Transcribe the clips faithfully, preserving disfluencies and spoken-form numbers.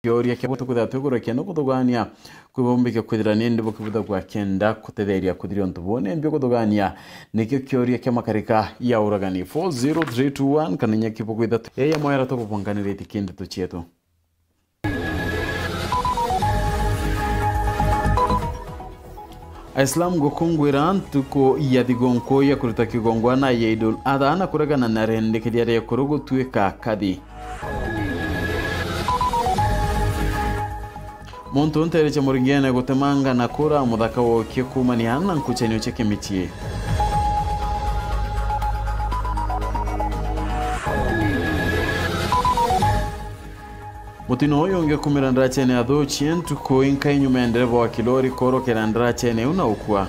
kioria kia bwatu kwithira twigurukia ni kuthugania kwi bumbikia kwithira ni ndi bukibutha gwa kenda kutetheria kuthiria untu buu ni mbi kuthugania. Nikio kioria kia makarika ya uragani four zero three two one kana inya kibuku ithatu. Yeye mwera tukubonganiriti kindeto cietu. Aislam gukungwira ntuku ya thigunku ya kuruta kigongwana ya Idul Adha na kuregana na rendekeria ria ekuru gutuika kathi. Muntu nteere cia Muringene gutemanga na kura muthaka wokie kuumania na nkuchanio cia kimichie. Mutino uyu ungikumira ndarachene athuchie ntuku inkai nyuma ya ndereva wa kilori korokera ndarachene iu na ukua.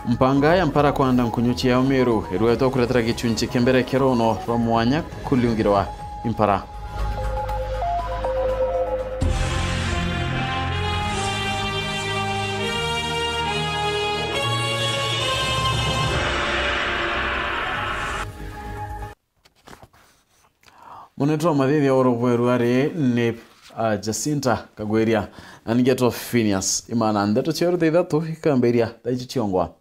Mpanga ya mpara kwanda nkunyu ciao Meru irwetwa kuretera gichunchi kia mbere kia rono rwa mwanya kuliungirwa impara. Munene wa mathithi wa urugweru ari ni, ah, Jacinta Kagwiria, na ningetwa Phineas Imana. Ndeto cia ruta ithatu ikambiria thaa ici ciongwa.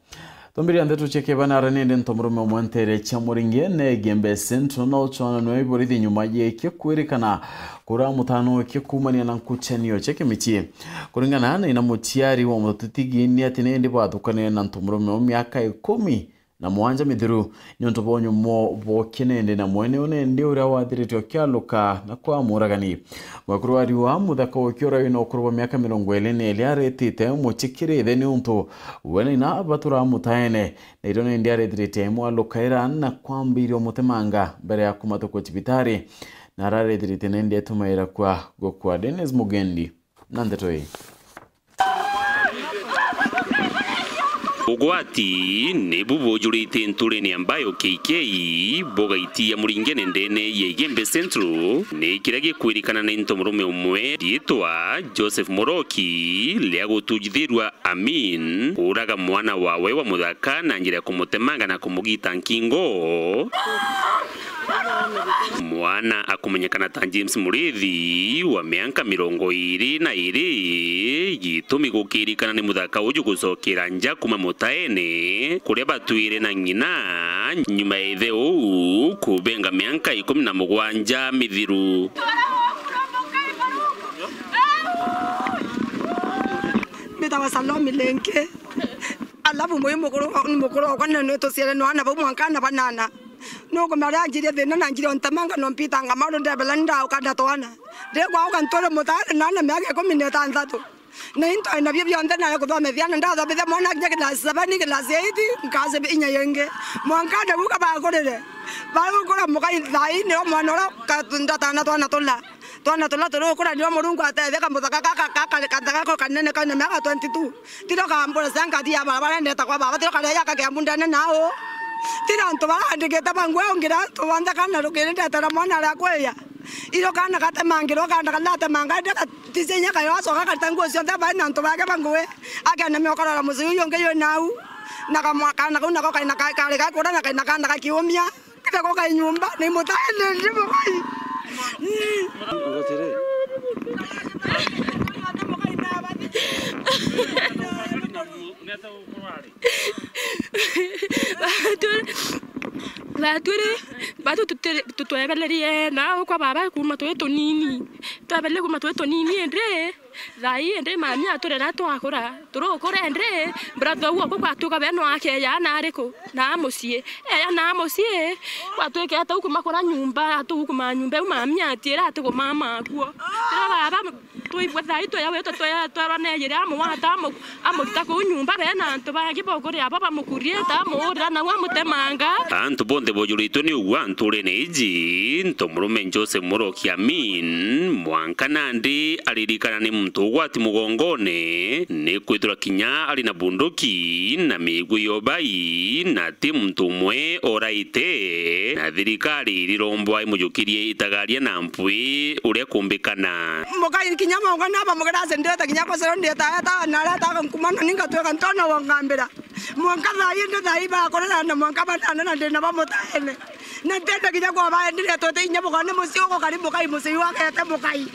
Twambiria ndeto cia kibana ari nindi ntomurume umwe ntere cia Muringene Igembe Central no chwana nwe iborithi nyuma yeke kwirikana kura mutano weke kuumania na nkuchanio cia kimichie. Kuringana na ina muciari wa mututigi ni ati nindi bathukanire na ntomurume wa miaka ikumi na mwanja mithiru, niuntu bwa unyumo bwokie nende na mwene une ndi uria wathiritwe akialuka na kwa muragani. Mwekuru wa riua muthaka wokie uria wina ukuru bwa miaka mirongo iri na iri aretite muchikirithe niuntu we na ina baturaa mutaene, na irio nende arethirite mwalukaira na kwambiria umutemanga mbere ya kumatukwa cibitari, na ararethirite nende etumaira kwa gukua. Dennis Mugendi na ndeto ii. Ugwati nibu bujurite nturene ya Mbayo K K, bugaitia Muringene ndene ya Igembe Central, ni kiria gikwirikana ni ntomurume umwe riitwa Joseph Muroki, ria gutujithirua Amin, uraga mwana wawe wa muthaka na njira ya kumutemanga na kumugita nkingo. Mwana akumenyekana ta James Murithi wa mianka mirongo iri na iri, gitumi gukirikana ni muthaka uju gucokera nja kuma mutaene kuria batwire na ng'ina, nyuma ya ithe uu kubenga mianka ikumi na mugwanja mithiru. Mbitawa Salome Lenke. Alafu mwi mukuru, mukuru wakwa ni, ni tuciare no ana bau mwanka ana banana. Nukumenya riria anjirie thina na njire ntemanga no mpitanga maundu ndebela ndauka ndatwana. Ndi kwauka ntwire mutaane na ana miaka ikumi na itanthatu. Na into nabio bionthe na kuthomethia na ndathomithia mwana kinya class seven, class eight, nkasi inya yingi. Mwanka ndaguka bagurire. Bagukura mukai thaini o mwana uria ka-, ndatana twana tula. Twana tula turukura nio Murungu atetheka muthaka gaka, gaka, gaka, gaka kanene kaina miaka twenty-two. Tiro kambura cia ngati ya barabara ndeta kwa baba, tiro karia yaka Kiambu ndene nao. Tiro antu bara andikite bangu ungira antu bonthe kana rukiri ndetera mwana aria kwiya. Iro kana gatemangirwo kana kanatemanga ndi gaticinya kayo acoka karita nguo cionthe bai na antu bake banguwe. Akena miokorora mucii uyu ungi yu nau. Na kamwa-, kana kau nako kaina ka-, kari gakura na kaina kana gakiumia. Kenda goka nyumba, ni mutaene ndi mukai. Batwire, batwire, batu tutire-, tutwebelerie na kwa baba kuma twi tunini. Twebelerie kuma twi tunini, indi Thaa ii indi mami aturera twakura, turukura indi, brother uu okwa gwatuka we no akeya na ariku? Na mucii. Eya na mucii, gwatuikete u kumakura nyumba, atu kuma nyumba iu mami atiira ati kumama akuo. Tira baba, twaigua thaa ii tweya witwe tweya twerwa neeyire amugwata amu-, amurita kuu nyumba, we na antu bangi bokuri abo bamukuriite amuurira nau amutemanga. Antu bonthe bojuritwe ni ugwa nturene iji, ntomurume Joseph Muroki Amin, mwanka nandi aririkana ni muntu ugwati mugongone, ni kwithirwa kinya ari na bunduki na migwi ya ubai, na ti muntu umwe oraite, na thirikari irirombwa imujukirie itagaria na mpwi uria kumbikana. Mukai kinya Mwanka naba mugera ase ndeta kinya kwa sero ndeta eta na areta nkumana ninga tweka ntona wongambira. Mwanka thaa ii ndi thaa ii bakorera na mwanka banana na ndina bamutaene. Na ntenda kinya kwa baenderea twete inya bukone mucii ugo kari mukai mucii wagete mukai.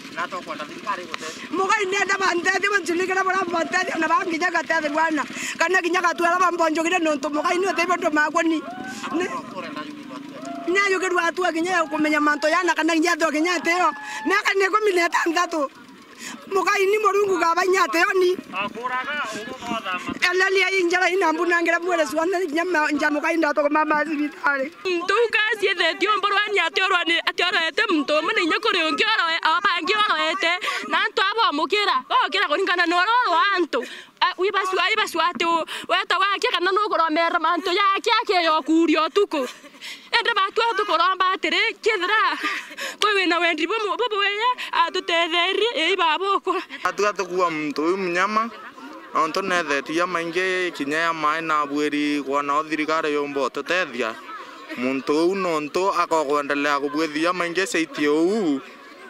Mugai nenda bantethia banchunikira bura bantethia na banginya gatethia bwana. Kana kinya gatwara bambonjogire nontu mugai ni utebio ndo magoni. Ni Nayugirwa atua kinya ya kumenya mantu jana kana kinya atua kinya ateo. Miaka ni ikumi na itantatu. Mugai ni Murungu gaba inya ateo ni. Eleli ya injara ina mbunangira mwere suana kinya ma-, nja mugai ndatogoma ma cibitari. Ntu ukaciethetie umburwani atiorwani atiorwete muntu umwe na inya kuri ungi oroe, abangi oroete, na antu abomukira, bokira kuringana na oro oro antu. A, wibasua, ibasua ati u-, weta wakia kana nukuromera mantu jakia akeya ukuria utuku. Indi batua tukuromba atiri, kethira kwi wina wendi bumu-, bubwega, atutetherie, ii babukwa. Atua tukua muntu uyu munyama, nontu nethetie jamaingi kinya ya mai na bwiri kwana o thirikari yumba ututethia. Muntu uu nontu akokwendelea kubwithia jamaingi saitie uu,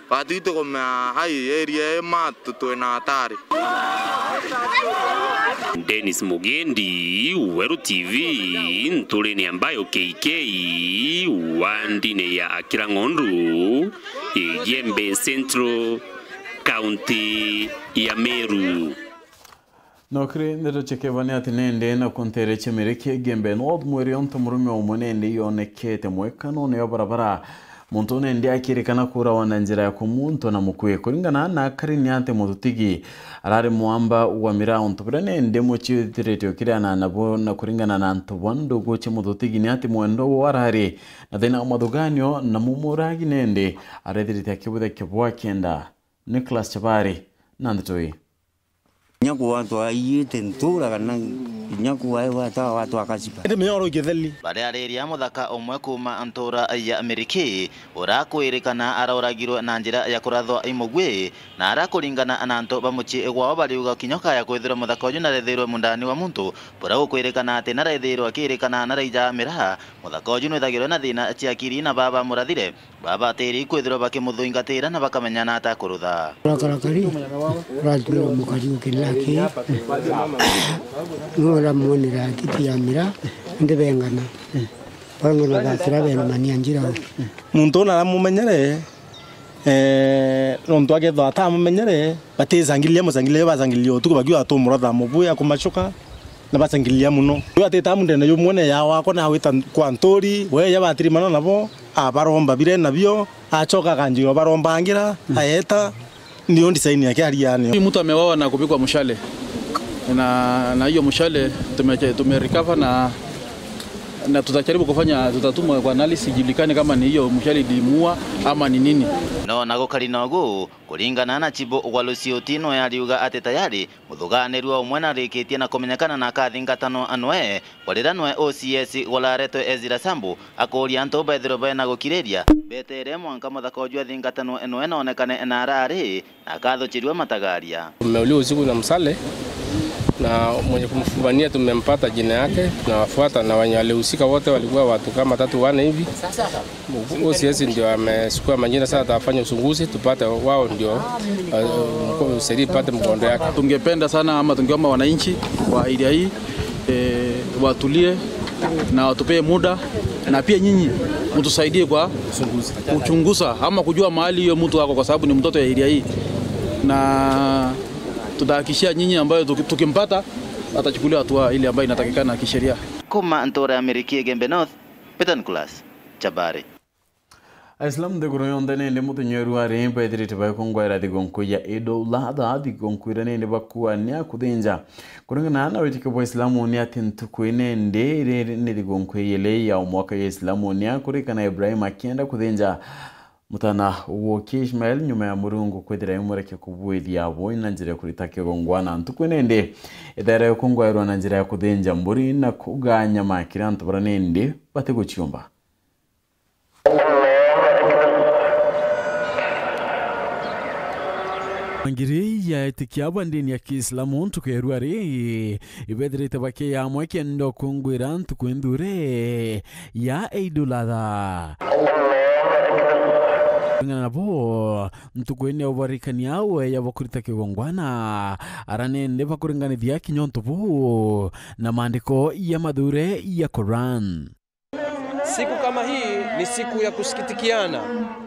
Batwi tukumea ai area ii matu twina hatari. Dennis Mugendi, Weru T V, nturine ya Mbayo K K, wandine ya Akira Ng'ondu, Igembe Central, County ya Meru. No kiri ndeto cia kebani ati nende na kuntere cia Miriki Igembe North mwiri onto murume umwe nende yonekete mwekanone ya barabara. Muntu nende akirikana kurawa na njira ya kumuntwa na mukui. Kuringana na akari ni ati mututigi arari mwamba wa miraa untu biria nende mucii uthiritio kiri anana bo, na kuringana na antu ba ndugu cia mututigi ni ati mwendwa wo arari na thina wa mathuganio na mumuragi nende arethirite akibutha kibwa kenda. Nicholas Chabari na ndeto ii. Kinya kugwatwa aiyite ntura kana kinya kugwatwa watu akasiba. Indi mioro ikitheli. Bariariria muthaka umwe kuuma ntura ya Miriki, urakwirikana aroragirwe na njira ya kurathwa i mugwi, na ara kuringana na antu ba mucii gwao bariuga kinya kaya kwithirwa muthaka uju narethirwe mundani wa muntu, buria gukwirikana ati narethirwe akirikana naraija miraa. Muthaka uju nwithagirwe na thina cia akiri na baba murathire. Babatiri kwithirwa bakimuthuingatira na bakamenyana ata kurutha. Rakarakari, ratuira mukari ukirira ki, nora mwonera kiti ya mira, ndibengana. Bang'ana bakira bena mania njira u. Muntu una aramumenyere, eh, nontu akethwa atamumenyere, batisangiriria musangiriria, basangiriria utuku bakiuga tumura thaa mubui akumacuka. Na basangiriria muno. Uyu atita mundene jumwe ne ya wakwa na awita kwa nturi, we ya batirimana nabo, abaromba bire nabio, acoka akanjira barombangira, aeta, ndio design yake ariani. Huyu mtu ameuawa na kupigwa mshale. Na, na hiyo mshale tume-, tumerecover na, na tutajaribu kufanya, tutatuma kwa analysis ijulikane kama ni hiyo mshale ilimuua ama ni nini. No na gukari nogu, kuringana na Chibu gwa Lusiuti, no yariuga ati tayari Muthuganirua umwe narikitie na kumenyekana na akathingatanwa anwe, kwarira nwe O C S guraretwe Ezra Sambu akuria antu bethirwe bena gukiriria, betere mwanka muthaka uju athingatanwe nwe na onekane na arari na akathuchirua matagaria. Tumeuliwa usiku na msale na mwenye kumfumania tumempata jina yake, tunawafuata na wenye walihusika wote walikuwa watu kama tatu wane hivi. O C S ndio amechukua majina, sasa atafanya uchunguzi tupate wao ndio, eh, mko-, usaidia ipate mkondo yake. Tungependa sana ama tungeomba wananchi wa area hii, eh, watulie na watupee muda, na pia nyinyi mtusaidie kwa kuchunguza ama kujua mahali hiyo mtu ako, kwa sababu ni mtoto ya area hii, na tutahakikishia nyinyi ambayo tuki-, tukimpata atachukuliwa hatua ile ambayo inatakikana kisheria. Kuma ntura ya Miriki Igembe North, Peter Nicholas Chabari. Aisilamu nthiguru yonthe nindi muthenya wa rwari bethirite bagikungwira thigunku ya Eid ul-Adha, thigunku iria nindi bakuania kuthinja. Kuringana na witikio bwa Islamu ni ati ntuku ii nindi iri ni thigunku ya ili ya o mwaka ya Islamu ni akurikana Ibrahim akienda kuthinja mutana woki Ishmael nyuma ya Murungu kwithira imureke kubwithia abo na njira ya kurita kigongwana. Ntuku ii nindi ithaira yukungwairwa na njira ya kuthinja mburi na kugaa nyama kiri antu baria nindi batiguciumba. Ngiri ya etikia ba ndini ya Kiislamu ntuku ya rwari ibethirite bakiya amwe kenda ukungwira ntuku inthure ya Eidul Adha. Kuringana nabo, ntuku ine ubarikania we ya bakurita kigongwana, ara nende bakuringanithia kinya untu buu na maandiko ya mathure ya Quran. Siku kama hii ni siku ya kusikitikiana,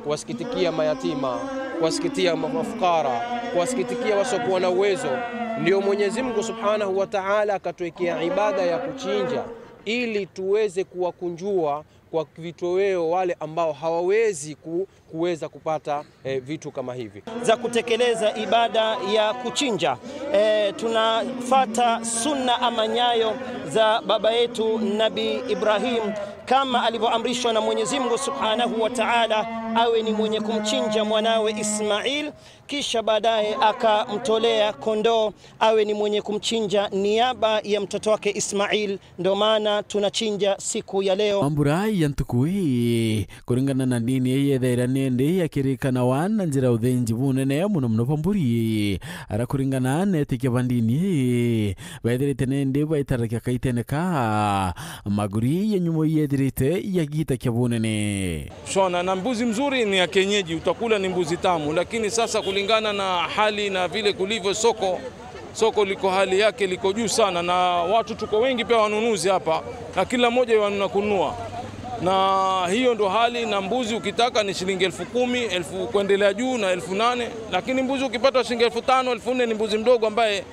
kuwasikitikia mayatima, kuwasikitikia ma-, mafukara, kuwasikitikia wasiokuwa na uwezo. Ndio Mwenyezi Mungu Subhanahu wa Ta'ala akatuwekea ibada ya kuchinja ili tuweze kuwakunjua kwa vitoweo wale ambao hawawezi ku-, kuweza kupata, eh, vitu kama hivi. Za kutekeleza ibada ya kuchinja. Eh, tunafata sunna ama nyayo za baba yetu Nabi Ibrahim, kama alivyoamrishwa na Mwenyezi Mungu Subhanahu wa Ta'ala, awe ni mwenye kumchinja mwanawe Ismail, kisha baadaye akamtolea kondoo, awe ni mwenye kumchinja niaba ya mtoto wake Ismail. Ndo maana tunachinja siku ya leo. Mambura ya ntuku ii, kuringana na ndini ii, yethaira nindi yakirikanawa na njira ya uthinji bunene muno muno bwa mburi. Ara kuringana na etikia ba ndini ii, bethirite nindi baitarakia kaitene ka maguri ya nyumo yethirite yagita kia bunene. Shona, na mbuzi mzuri ni ya kienyeji, utakula ni mbuzi tamu, lakini sasa kulingana na hali na vile kulivyo soko, soko liko hali yake liko juu sana, na watu tuko wengi pia wanunuzi hapa, na kila mmoja wanuna kununua. Na hiyo ndo hali, na mbuzi ukitaka ni shilingi elfu kumi, elfu kuendelea juu na elfu nane, lakini mbuzi ukipata shilingi elfu tano, elfu nne ni mbuzi mdogo ambaye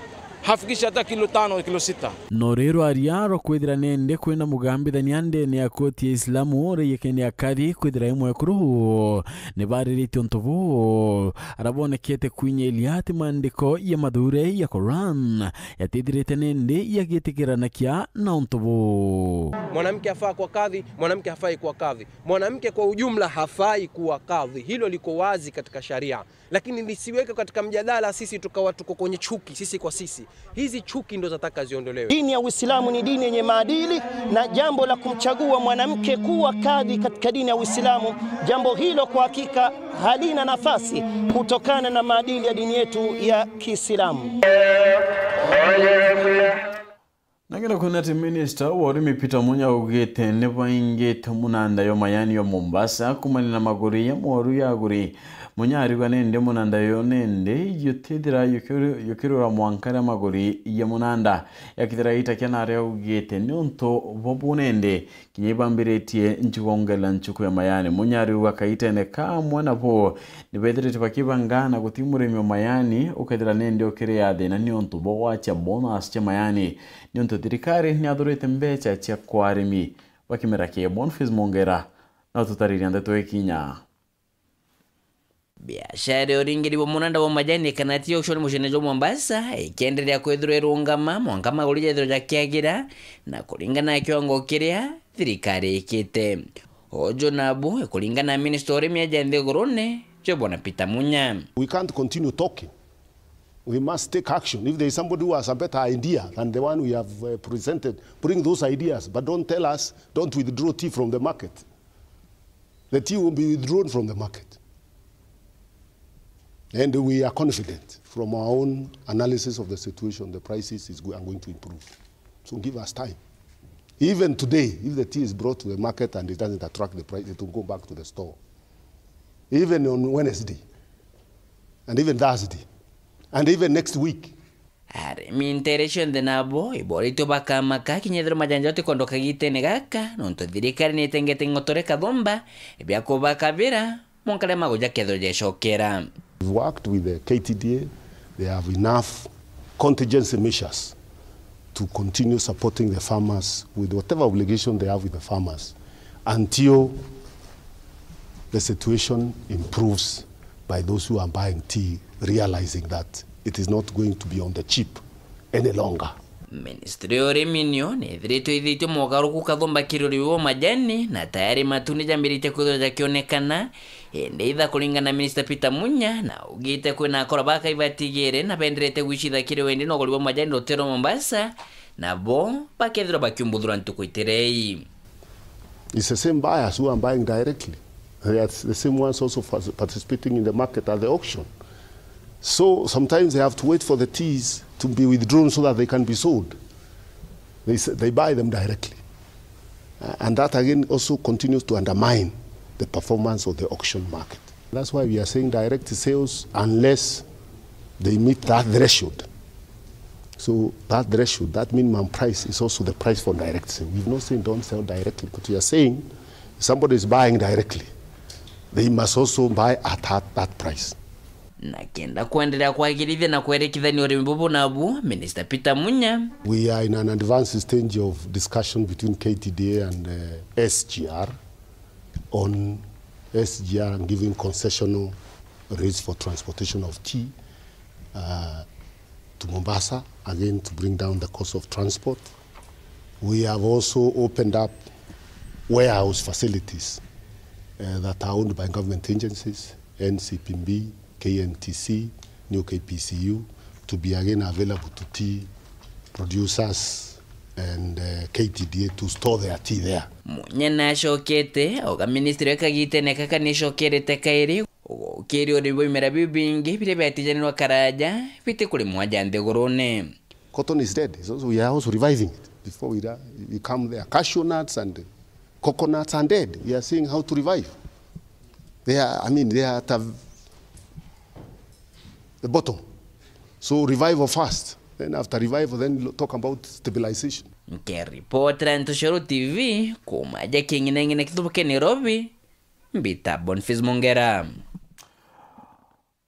hafikishi hata kilo tano, kilo sita. No rero aria rwa kwithira nende kwina mugambithania ndene ya koti ya Islamu uria yekene akathi kwithira imwe kuru ni bariritie untu buu, ara bonekete kwinyiria ati maandiko ya mathure ya Quran yatithirite nende yagitikiranakia na untu buu. Mwanamke afaa kuwa kadhi, mwanamke hafai kuwa kadhi. Mwanamke kwa ujumla hafai kuwa kadhi. Hilo liko wazi katika sharia. Lakini lisiweke katika mjadala sisi tukawa tuko kwenye chuki sisi kwa sisi. Hizi chuki ndo zataka ziondolewe. Dini ya Uislamu ni dini yenye maadili, na jambo la kumchagua mwanamke kuwa kadhi katika dini ya Uislamu, jambo hilo kwa hakika halina nafasi kutokana na maadili ya dini yetu ya Kiislamu. Na kenda kwona ati minista wa urimi Peter Munya augite ni baingite munanda yo mayani yo Mombasa kumania na maguri ya mworu ya aguri. Munya ariuga nende munanda yo nende yutithira yukiru-, yukirura mwanka ria maguri ya munanda. Yakithira ita kia nare augite ni untu bobu nende kinya ibambiritie nchugongerera nchuku ya mayani. Munya ariuga kaitene kamwe nabo ni bethirite bakibanga na guti murimi wa mayani ukethira nende ukiria thina ni untu bwa gwacha bonus cia mayani. Niuntu thirikari ni yathurite mbecha cia kwa arimi ba kimera kia Boniface Mongera na ututariria ndeto ikinya. Biashara ya uringiri bwa munanda bwa majani kana ti auction muciine jwa Mombasa ikienderea kwithirwa irungama mwanka maguri jethirwa jakiagira na kuringana na kiwango kiria thirikari ikite. Uju nabu ikuringana na minista wa urimi aja nthigurune jwa bwana Peter Munya. We can't continue talking. We must take action. If there is somebody who has a better idea than the one we have, uh, presented, bring those ideas, but don't tell us, don't withdraw tea from the market. The tea will be withdrawn from the market. And we are confident from our own analysis of the situation, the prices is go-, are going to improve. So give us time. Even today, if the tea is brought to the market and it doesn't attract the price, it will go back to the store. Even on Wednesday, and even Thursday, and even next week. Arimi nteere cionthe nabo iboritwe bakamaka kinya ethirwa majani jao tikondoka gitene gaka, nontu thirikari nitengete ng'otore kathumba bia kubakabira mwanka riria maguja kethirwa jecokera. We've worked with the K T D A, they have enough contingency measures to continue supporting the farmers with whatever obligation they have with the farmers until the situation improves by those who are buying tea realizing that it is not going to be on the cheap any longer. Ministry ya urimi nio nithiritwe ithitwe mogaruku kathumba kiri urimi bwa majani, na tayari matu ni jambiritie kwithirwa jakionekana, indi itha kuringana na Minister Peter Munya, na augite kwina akora baka ibatigire na benderete gwicitha kiri wendi na uguri bwa majani rutero Mombasa, nabo bakethirwa bakiumbuthura ntuku itirei. It's the same buyers who are buying directly. They are the same ones also fas-, participating in the market at the auction. So sometimes they have to wait for the teas to be withdrawn so that they can be sold. They s-, they buy them directly. Uh, and that again also continues to undermine the performance of the auction market. That's why we are saying direct sales, unless they meet that threshold. So that threshold, that minimum price, is also the price for direct sale. We've not saying don't sell directly, but we are saying if somebody is buying directly, they must also buy at, at that price. Na kenda kwenderea kwagirithia na kwerekithania urimi bubu nabu, Minister Peter Munya. We are in an advanced stage of discussion between K T D A and, uh, S G R on S G R giving concessional rates for transportation of tea, uh, to Mombasa, again to bring down the cost of transport. We have also opened up warehouse facilities, uh, that are owned by government agencies, N C P B, K N T C, new K P C U, to be again available to tea producers and, uh, K T D A to store their tea there. Munya nacokete auga ministry ya kagitene kaka nicokerete kairi gukiria urimi bwa bimera biu bingi biria biatijanirwa karaja biti kurimwa ja nthigurune. Cotton is dead. It's also, we are also reviving it before we, ra- we come there. Cashew nuts and coconuts are dead. We are seeing how to revive. They are, I mean, they are at a, the bottom. So revival first. Then after revival, then lo- talk about stabilization. Nkiripotera Ntoshoro T V, kuma ja king'ineng'ine kithubuke Nairobi, mbita Boniface Mongera.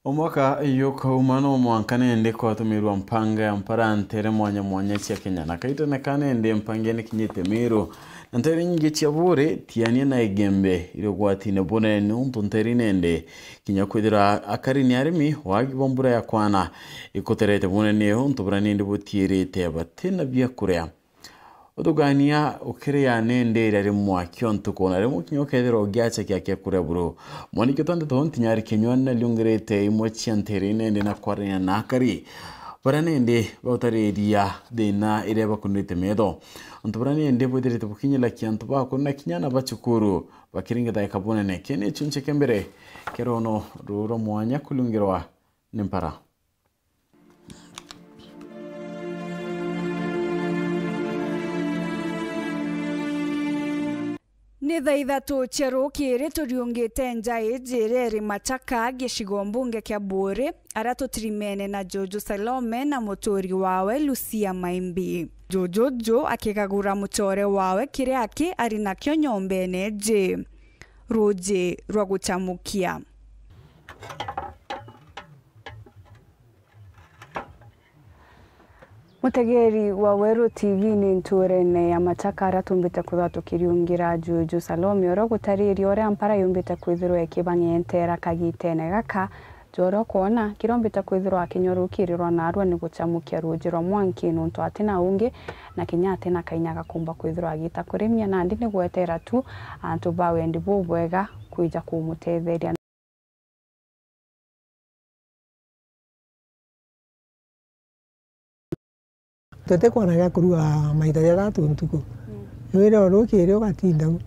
Omwaka yukauma no mwanka nende kwatumirwa mpanga ya mpara ntere mwanya mwanya cia Kenya, na kaitene ka nende mpanga nikinyite Meru, na ntere nyingi cia Buuri, Tiania na Igembe iri ugwatine bunene niuntu ntere nende kinya kwithirwa akari ni arimi, wagi bwa mbura ya kwana ikuterete bunene untu bura nindi butiirite batina bia kuria. Uthugania ukiria nindi iria rimwe kio ntuku, na rimwe kinya ukethirwa ugiacha kia kia kuria buru. Mwaniki twandite ho ntinyari kinywa na liungirite imwe cia ntiri nindi na kwarania na akari baria nindi bautariria thina iria bakunirite metho. Antu baria nindi bwithirite bukinyirakia antu bakuru na kinya na bacukuru bakiringithaika bunene. Kii ni chunche kia mbere kia rono ruru rwa mwanya kulungirwa ni mpara. Ni thaa ithatu cia rukiri turiungite nja iji iria iri Machaka, gicigo mbunge kia Buuri, aria tutirimene na Juju Salome na muturi wawe Lucia Maimbi. Juju ju akigagura mucore wawe kiria aki ari nakio nyombene iji, ruuji rwa guchamukia. Mutegeri wa Weru T V, ni ntuurene ya Machaka aria tumbite kwithirwa tukiriungira Juju Salome, uria ugutariria uria mpara yumbite kwithirwa ikibang'entera kagitene gaka. Jwa uria ukwona, kiria umbite kwithirwa akinywa rukirirwa narua ni guchamukia ruuji rwa mwanki, nuntu atina ungi, na kinya atina kainya gakumba kwithirwa agita kurimia, nandi ni gwetera tu antu ba wendi bubwega kwija kumutetheria. Tutikwona gia kurua maita jathatu ntuku. Mm. Wire o rukiri ugatinda u.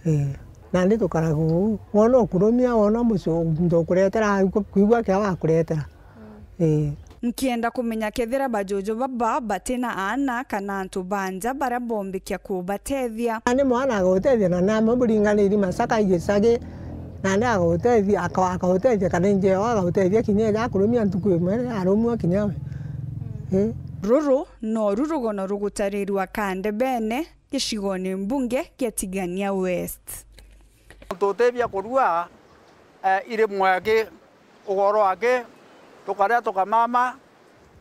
Mm. Eh. Nandi tukaraga uu. Wona ukurumia, wona mucio, muntu ukuretera, kwigua kia wakuretera. Mm. Eh. Nkienda kumenya kethira bajuju baba batina aana kana antu ba nja baria bombikia kubatethia. Nandi mwana agutethia, na nama buringaniri Machaka igicagi, nandi agutethia, aka-, akautethia, kana injeo agautethia kinya eja akurumia ntuku imwe, arumua kinya we. Eh. Ruru noru rugono rugutarirwa Kandebene, gicigone mbunge gia Tigania West. Tutethia kurua, eh, iri mwaki, ugoro aki, tukaria tukamama,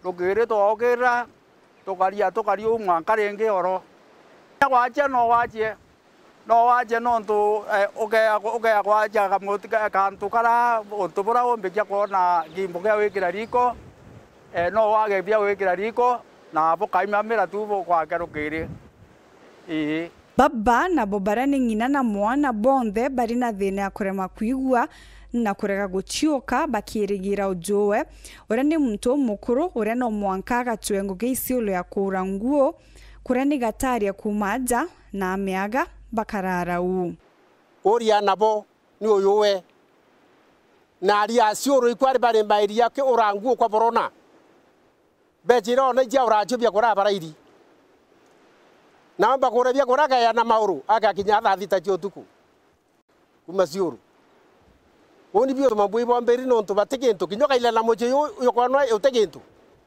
rukiri twaukira, tukaria, tukaria uu mwanka ringi oro. Gwachia no wachie, no wachie nontu, eh, ukea, ukea gwachia kamuti ka, kantu kara, untu bura umbikia kwona gimbo gia wikira riko, eh, no wage bia wikira riko, na bukaimamira tu bugwake rukiri. Ii. Baba nabo baria ni ng'ina na mwana bonthe bari na thina ya kurema kwigua na kurega guciuka bakirigira ujuwe, uria ni muntu umukuru uria no mwanka agatue ngugi iciulu ya kuura nguo, kuria ni gataria kuuma aja na amiaga bakarara uu. Uria nabo ni uyu we. Na aria aciuru ikwari bari mairia ki ura nguo kwa borona. Bejira ona ijia uracio bia kura barairi. Na amba kura bia kura gaya na mauru, agakinya thaa thita cia utuku. Kuma ciuru. Uuni biu mambui bomberi nontu bati kintu, kinya ukaila na mucii uyu, uyu kwanwa uti kintu.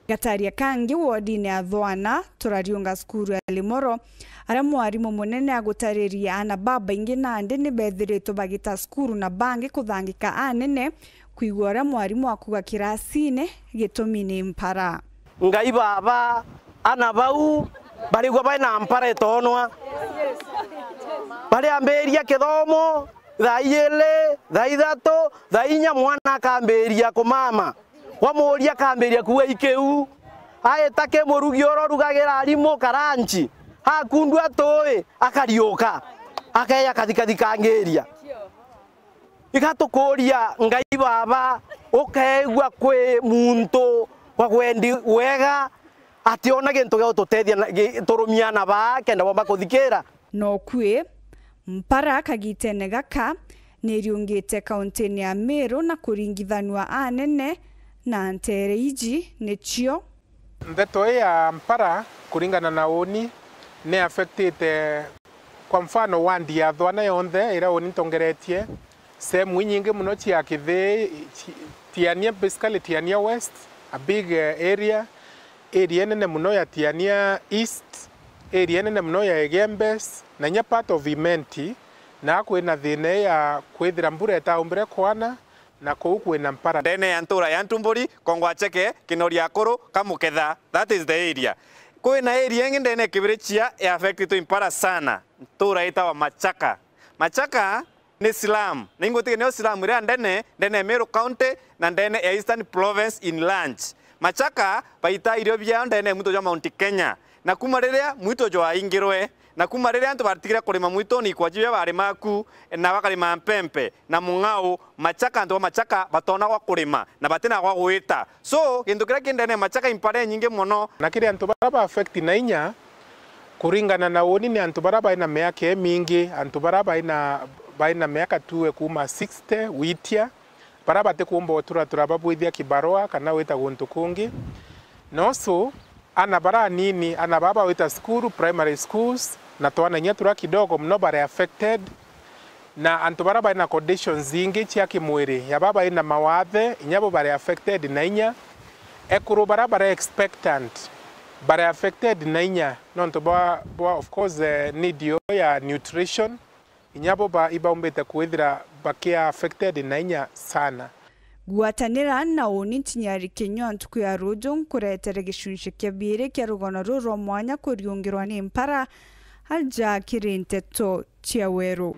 Gataria kangi wodine ya Thwana, turariunga cukuru ya Limoro, aria mwarimu munene agutaririe aana babaingi nandi ni bethiritwe bagita cukuru na bangi kuthangika anene kwigua uria mwarimu akuga kirasine gitumi ni mpara. Ngai Baba, ana bau barigwa baina mpara itonwa. Bariambiria kithomo thaa ijiri, thaa ithatu, thaa inya mwana akambiria kumama. Wamuria akambiria kuua ikiu. Aita ki murugi uria urugagira arimu karanchi. Akundua tui, akariuka. Akeya kathikathikangiria. Igatukuria Ngai Baba, ukeegua kwi muntu wa gwendi wega, ationa gintu gia gututethia na, gi-, turumia na baa kenda bomba kuthikira. No kwi, mpara kagitene gaka niriungite kauntine ya Meru na kuringithanua anene na nteere iji nicio. Ndeto ii ya mpara, kuringana na uuni, ni affectite, kwa mfano, ward ya Thwana yonthe iria uuni ntongeretie, sehemu inyingi muno cia Kithii, ci-, Tiania, basically Tiania West, a big, eh, area, area nene muno ya Tiania East, area nene muno ya Egembes, na inya part of Imenti, na kwina thina ya kwithira mbura itaumbire kwana, na kuu kwina mpara. Ndene ya ntura ya Ntumburi, Kongwacheke, Kinori Akuru, Kamuketha, that is the area. Kwina area ingi ndene ya Kibirichia ya affectitwe impara sana, ntura itawa Machaka. Machaka ni slum. Na ingutiga niyo slum iria ndene, ndene ya Meru County, na ndene ya Eastern Province in large. Machaka baita irio biao ndene ya mwito jwa Mount Kenya. Na kuma riria mwito jwaingirwe, na kuma riria antu batigire kurima mwituni, ikwaji biria barima ku, na bakarima mpempe, na mung'au, Machaka, antu ba Machaka batona gwa kurima, na batina gwa gwita. So, gintu kiria ki ndene ya Machaka impara inyingi mono. Na kiri antu baria ba affect na inya, kuringana na uuni, ni antu baria baina miaka imingi, antu baria baina, baina miaka tuwe kuuma sixty gwitia, baria batikuumba uturatura babwithia kibarua kana wita guntu kungi. Noso, ana baria anini, ana baria bawita cukuru, primary schools, na twana inya turia kidogo mono bari affected, na antu baria bari na conditions ingi cia kimwiri, ya baria bari na mawathe, inya bo bari affected na inya. Ekuru baria bari expectant bari affected na inya, nontu bwa, bwa, of course, eh, need yo ya nutrition. Inya bo ba-, ibaumbite kwithira bakia affected na inya sana. Gwatanira na uuni ntinyari kinyua ntuku ya ruju nkuretere gicunci kia biiri kia rugano ruru rwa mwanya kuriungirwa ni mpara aja kiri nteto cia weru.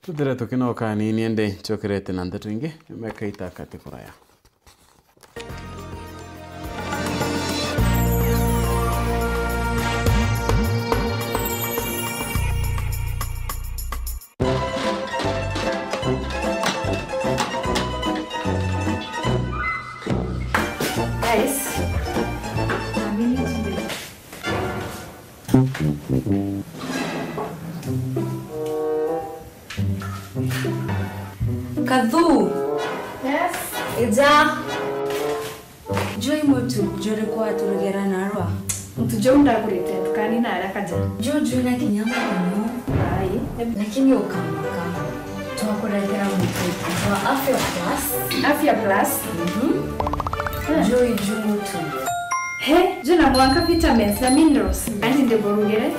Tuthire tukinoka anini indi ncokerete na nteto ingi, nyuma ya kaita kati kuraya. Guys, Kathu. Yes. Ija. Joi mutu juri kwa turugera narwa. Mutu juu ndagurite dukani na haraka ja. Juu juu na kinya muno. Ai. Lakini ukama kama. Twakuretera mutu wa Afya Plus. Afya Plus? Mhm. Eh. Joi juu mutu. He, juna mwanka vitamins na minerals, andi ndiburugire,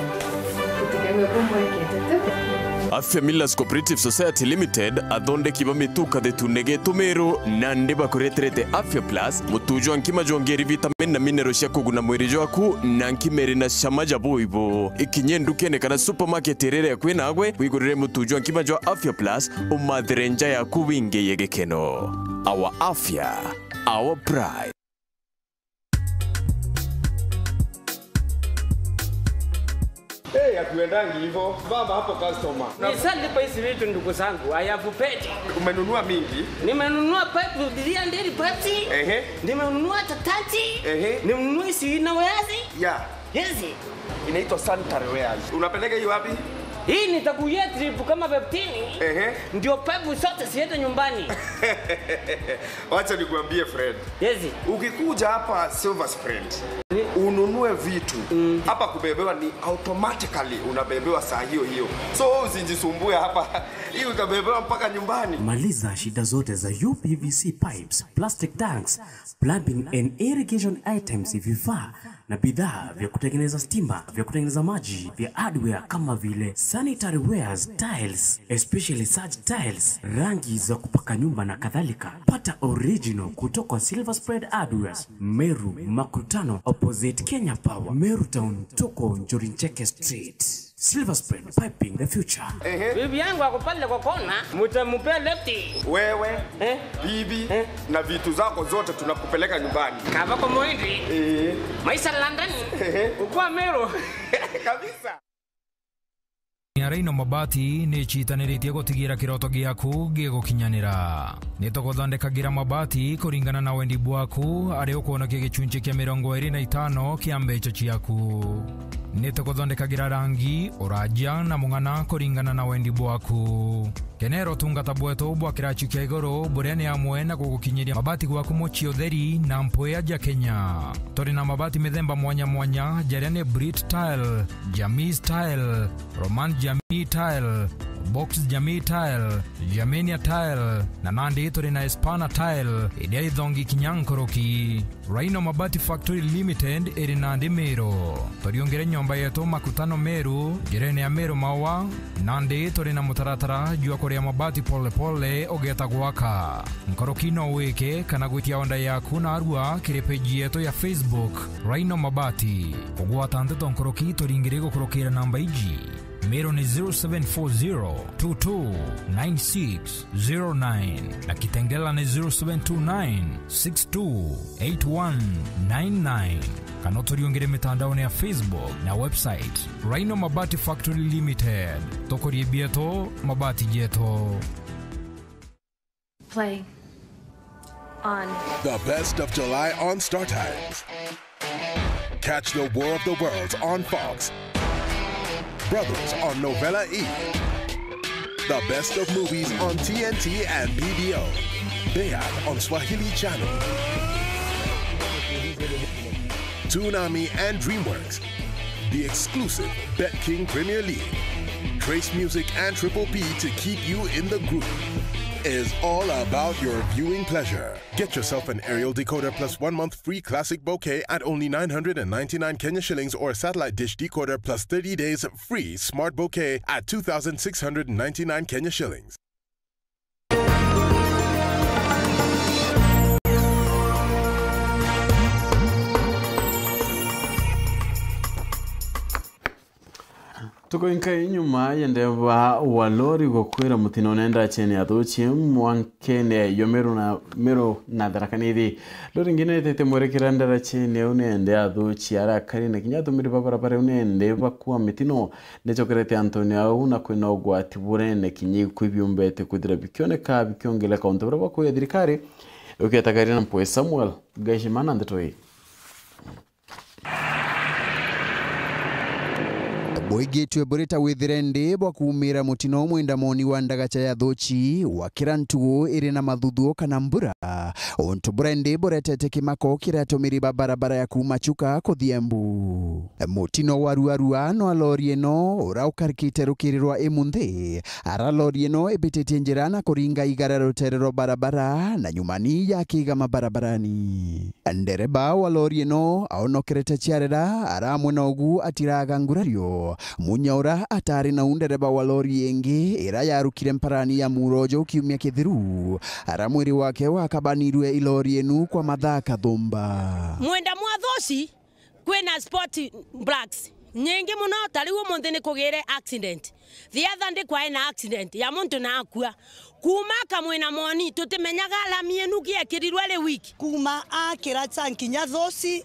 utigagwe kumbwekete tu. Afya Millers Cooperative Society Limited, athondeki ba mitu kathetune getu Meru, nandi bakureterete Afya Plus, mutu jwa nkima jwongeri vitamin na mineral cia kuguna mwiri jwaku, na nkima iri na cama ja buibu. Ikinye ndukene kana supermarket iria iri akui nagwe, wigurire mutu jwa nkima jwa Afya Plus, umathire nja yaku wingiye gikeno. Our Afya, our pride. Eh, hatuendangi hivyo. Baba hapo customer. Nishalipa hizi vitu, ndugu zangu. I have paid. Umenunua mingi? Nimenunua pipe, three hundred pipes. Ehe. Nimenunua tatati. Ehe. Nimenunua hizi inner wares. Yeah. Hizi. Inaitwa sanitary wares. Unapeleka hiyo wapi? Hii nitakuia trip kama fifteen, ehe, ndio pevu zote ziende nyumbani. Wacha nikuambie, friend. Yes. Ukikuja hapa Silver Spread, eh, ununue vitu, mm, hapa kubebewa ni automatically unabebewa saa hiyo hiyo. So wewe usijisumbue hapa. Hii utabebewa mpaka nyumbani. Maliza shida zote za U P V C pipes, plastic tanks, plumbing and irrigation items, vifaa na bidhaa vya kutengeneza stima, vya kutengeneza maji, vya hardware kama vile sanitary wares, tiles, especially such tiles, rangi za kupaka nyumba na kadhalika. Pata original kutoka Silver Spread Hardwares, Meru Makutano, opposite Kenya Power, Meru Town, tuko Njuri Ncheke Street. Silver Spread, piping the future. Ehe. Bibi yangu ako pale kwa kona, mtampea left. Wewe, eh, bibi, eh, na vitu zako zote tunakupeleka nyumbani. Kava kwa Muhindi. Eh. Maisha London. Ehe. Ukwa Meru. Kabisa. Ya Rhino Mabati ni citaniritie gutigira kiroto giaku gigukinyanira. Ni tuguthondekagira mabati kuringana na wendi bwaku, ari ukwonokia gicunci kia mirongo iri na itano kia mbeca ciaku. Ni tuguthondekagira rangi, uraja na mung'ana kuringana na wendi bwaku. Kenera utungata bwetu bwa kiraci kia iguru, buria ni amwe na gugukinyiria mabati gwaku mucii utheri na mpwia ja Kenya. Turi na mabati mithemba mwanya mwanya, jaria ni Brit Tile, Jamii Style, Roman Jamii Tile, Box Jamii Tile, Germania Tile, na nandi turi na Espana Tile, iria ithongi kinya nkoroki. Rhino Mabati Factory Limited iri nandi Meru. Turiungire nyomba yetu Makutano Meru, njirene ya Meru Maua, nandi turi na mutaratara jwa kuria mabati pole pole ugeeta gwaka. Nkoroki no wike kana gwitia onda yaku narua kiri page yetu ya Facebook, Rhino Mabati. Kugwata nteto nkoroki turingire gukurukira namba iji. Meru ni zero seven four zero two two nine six zero nine na Kitengela ni zero seven two nine six two eight one nine nine. Kana uturiungire mitandaone ya Facebook na website, Rhino Mabati Factory Limited. Tukurie bieto, mabati jeto. Play on. The best of July on StarTimes. Catch the War of the Worlds on Fox. Brothers on Novella E. The best of movies on T N T and B B O. Bayat on Swahili Channel. Toonami and DreamWorks. The exclusive BetKing Premier League. Trace Music and Triple P to keep you in the groove. Is all about your viewing pleasure. Get yourself an aerial decoder plus one month free classic bouquet at only nine hundred and ninety-nine Kenya shillings or a satellite dish decoder plus thirty days free smart bouquet at two thousand six hundred and ninety-nine Kenya shillings. Tukoinka inyuma ya ndereba wa lori gukwira mutino nenda cheni ya thuchi mwankene yo Meru na, Meru na Tharaka Nithi. Lori ingi niritite mwerekera ndera cheni au nende athuchi arakari na kinya atumiri ba barabara au nende bakua mitino. Nichokerete antoni au na kwina ugwati burene kinya ikui biumbete kwithira bikioneka bikiongeleka untu buria bakuya thirikari ukietagaria na mpwe Samuel Gaishima na ndeto ii. Bwigitwe buri ta withire ndi bwa kuumira mutino mwenda moni wa ndagacha ya thuchi wa kira ntugu iri na mathuthuo kana mbura, untu buria ndi buretete kimako kiri atumiri ba barabara ya kuuma Chuka kuthia Embu. Mutino wa ruarua nwa lori ino ura ukarikite rukiri rwa imunthi, ara lori ino ibititie njira na kuringa igara rutere rwa barabara na nyumani ya kigama barabarani. Ndereba wa lori ino aonokerete ciarera, ara amwe na ugu atiraga ngurario. Munya ura atari nau ndereba wa lori ingi ira yarukire mparani ya Murojo kiumia kithiru, ara mwiri wake wakabanirue i lori inu kwa mathaa kathumba. Mwenda mwathoci kwina spot blacks nyingi muno, ta riu umunthi ni kugire accident. The other day kwae na accident ya muntu na akua. Kuuma akamwina moni, tutimenyaga lami inu giekirirwe ri wiki. Kuuma akira cha nkinya thosi,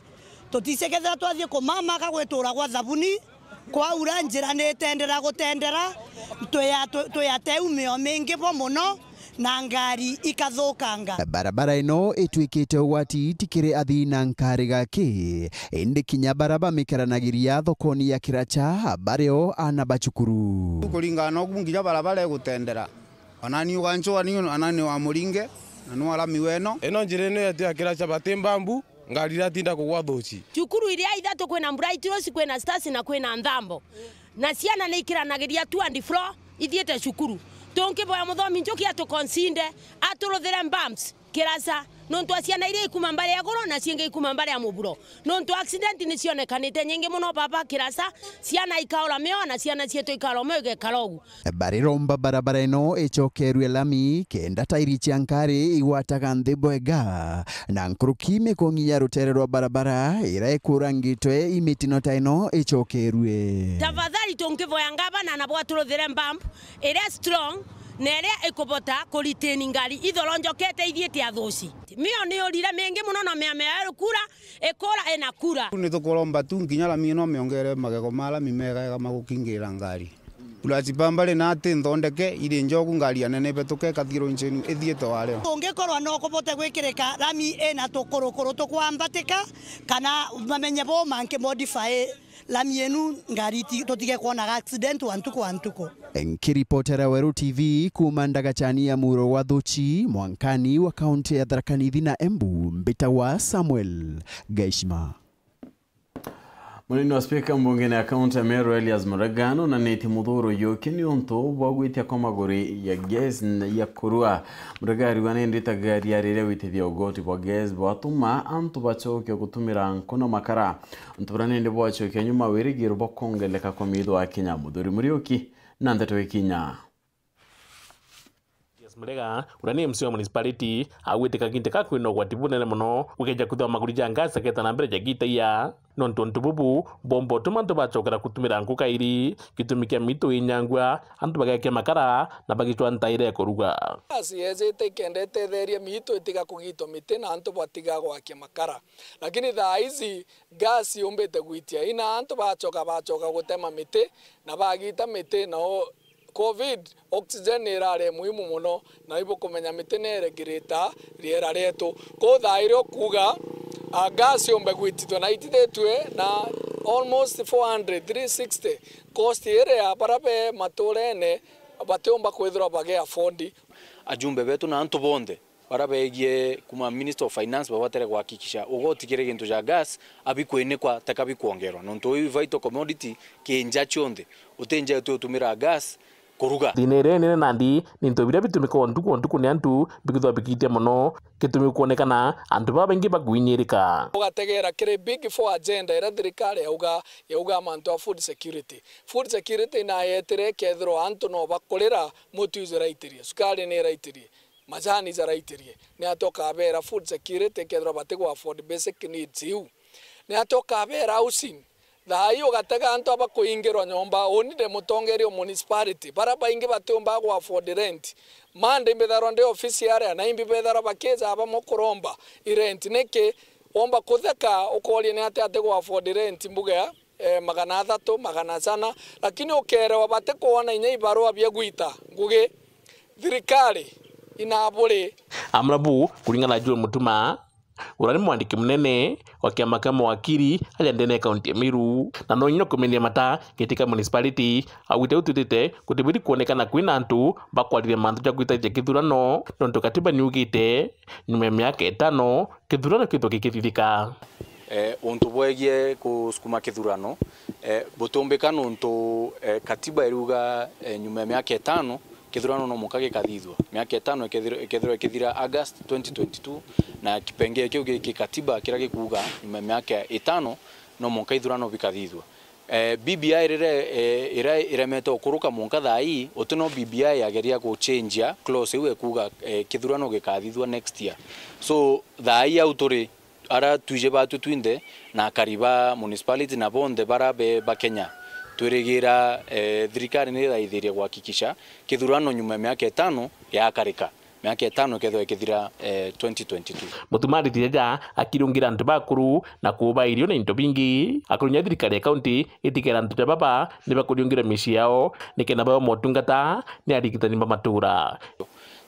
tuticekethera twathie kumama akagwitura gwa thabuni, kwaura njira ni itendera gutendera, twi a, twi, twi ate umio mingi bo muno, na ngari ikathukanga. Barabara ino itwikite ugwati ti kiri athii na nkari gaki, indi kinya bara bamikaranagiria thokoni ya Kiracha bario ana ba cukuru. Kuringana na ugu nginya barabara igutendera. Onani ugancua ni onani wa muringe, na ni wa lami weno. Ino njira ino yetu ya Kiracha bati mbambu, ngari iratinda kugwa thuci. Cukuru iria ithatu kwina Bright Rose, kwina Stars na kwina Nthambo. Na ciana ni ikiranagiria to and fro ithiite cukuru. Tungiboya muthomi Njuki atuconsider, aturuthire bumps Kiracha, nontu wa ciana iria ikuma mbari ya iguru na ciingi ikuma mbari ya muburo. Nontu accident ni cionekanite nyingi mono baba Kiracha, ciana ikaura mioyo na ciana cietu ikaura mioyo igekara ugu. Bariromba barabara ino icokerue lami kenda tairi cia nkari igwataga nthi bwega, na nkuruki mikungi ya rutere rwa barabara iria ikurangitwe i mitino ta ino icokerue. Tafadhali tungiboya ngavana nabo aturuthire bump iria strong na iria ikubota kuritini ngari ithoronjokete ithiite athuci. Mio ni urire mingi mono na mia mia kura ikura ina kura. Ni tukuromba tu nginya lami ino miongere magego ma lami megega magukingira ngari. Plus pambari na ati nthondeke iri njogu ngari ya nene ibetuke ikathirwo injini ithiite wario. Ungikorwa no kubote gwikirika lami ina tukurukuru tukwambatika, kana mamenye bo manki modify lami inu ngari iti- tutige kwonaga accident wa ntuku wa ntuku. Nkiripotera Weru T V kuuma ndagachani ya muro wa Thuchi, mwankani wa kaunti ya Tharaka Nithi na Embu, mbitagwa Samuel Gaishima. Munini wa spika mbungene ya kaunti ya Meru Elias Murega nonanitie muthuro yuki niuntu bwa gwitia kwa maguri ya gas ya kurua. Murega ariuga ni nditaga riari ria gwitithia ugoti bwa gas bwatuma antu bacokia gutumira nku na makara. Antu bara nindi bwacokia nyuma wirigiro bwa kwongeleka kwa miitho ya Kenya. Muthuri Muriuki na ndeto ikinya. Julius Murega, uria ni M C wa municipality, agwite kagita ka kwina ugwati bunene mono gukeja kwithirwa maguri ja gas jakeeta na mbere jagitaia. Nontu untu bubu bwomba utuma antu bacokera gutumira nku kairi, gitumi kia miitu inyangua, antu bagekia makara na bagicwa ntaira ya kuruga. Gas yejite ikenda itetheria miitu itiga kugitwa miti na antu batiga gwakia makara. Lakini thaa ici gas yumbite gwitia ina antu bacoka bacoka gutema miti na bagita miti nao Covid, oxygen ni irari muhimu mono, na ibukumenya miti ni iregirita riera rietu. Kou thaa iria ukuuga, a, gas yumbe gwitithua na itithitue na almost four hundred, three sixty, cost iria bara be maturene batiumba kwithirwa bagi afford. Ajumbe betu na antu bonthe bara begie kuma Minister of Finance babatere kuhakikisha ugoti kiri gintu ja gas abikwinikwa teka bikwongerwa, nontu uu i vital commodity ki nja cionthe, uti nja uti utumira gas kuruga. Thina iria inene nandi ni into biria bitumikaga ntuku o ntuku ni antu bikithwa bikiitia mono, gitumi kwonekana antu babaingi bakuinyirika. Ugategera kiri big four agenda iria thirikari yauga, yauga mantu a food security. Food security nayetire ikethirwa antu no bakurira, mutu ijuraitirie, sukari ni iraitirie, majani jaraitirie, ni atia ukabera food security kethirwa bati gu afford basic needs iu? Ni atia ukabera housing? Thaa ii ugatega antu aba kuingirwa nyomba, uni ndi mutongeria o municipality, bara baingi batiumba gu afford rent. Monday mbitharwa ndi ofisi aria, na imbi betharwa bakija bamwe kuromba i rent. Niki? Womba kutheka ukoria ni atia ati gu afford rent mbuga ya eh, magana athatu, magana jana, lakini ukerewa batikwona inya ibarua bia gwita ngugi thirikari inaburi. Amwe nabu, kuringana na Joel Mutuma, uria ni mwandiki munene wa kiama kia mawakiri aria ndene ya kaunti ya Meru, na no inya kumenyia mata giti kia municipality, augite utwitite gutibwiri kwonekana kwina antu bakwariria mantu ja gwitaithia kithurano, nontu katiba niugite nyuma ya miaka itano, kithurano kithwe gikithithika. Eh, untu bwegie kusukuma kithurano, eh, butumbika nuntu, eh, katiba iriuga, eh, nyuma ya miaka itano, kithurano no muka gikathithua. Miaka itano ikethirwa, ikethirwa ikithira August twenty twenty-two, na kipengee kiu gi kikatiba kiria gikuuga nyuma ya miaka itano no muka ithurano bikathithua. Eh, B B I rire, eh, ira iremete ukuruka mwanka thaa ii, uti no B B I yageria guchenjia clause iu ekuuga, eh, kithurano gikathithua next year. So, thaa ii au turi, ara twiji batwi twinthe na akari ba municipality na bonthe bara be ba Kenya, twirigira, eh, thirikari ni iraithiria kuhakikisha kithurano nyuma ya miaka itano yakarika. Miaka itano ikethirwa ikithira, eh, twenty twenty-two. Mutumari ti jaja akiriungira antu bakuru na kuuba irio na into bingi. Akurunya thirikari ya kaunti itigera antu ja baba ni bakuriungira micii yao nikenda bawe motungata ni arigitani ba matura.